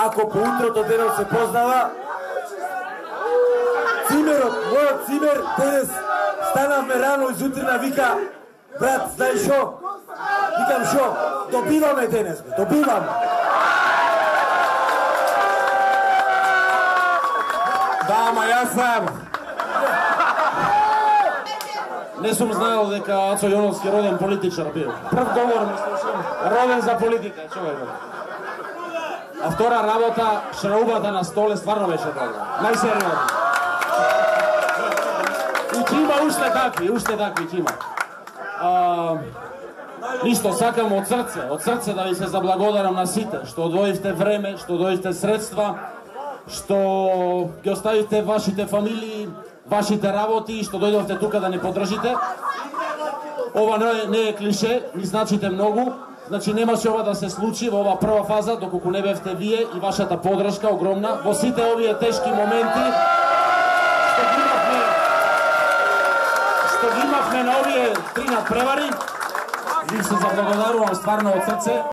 Ако по утрото денес се познава, цимерот, мојот цимер, денес станавме рано изутрина, вика, брат, знаеш шо? Викам шо? Добиваме денес, добиваме. Да, ама јас сам. Не сум знаел дека Ацо Јоновски роден политичар бил. Прв говор ми слушам, роден за политика, човекот. А втора работа, шраубата на столе стварно беше добра. Најсериозно. И ќе има уште такви ќе има. Ништо, сакам од срце да ви се заблагодарам на сите, што одвоивте време, што дојдовте средства, што ги оставивте вашите фамилии, вашите работи, што дојдовте тука да не поддржите. Ова не е клише, ни значите многу. Значи немаше ова да се случи во оваа прва фаза, доколку не бевте вие и вашата поддршка огромна во сите овие тешки моменти што ги имавме на овие 3 надпревари. Ви се заблагодарувам стварно од срце.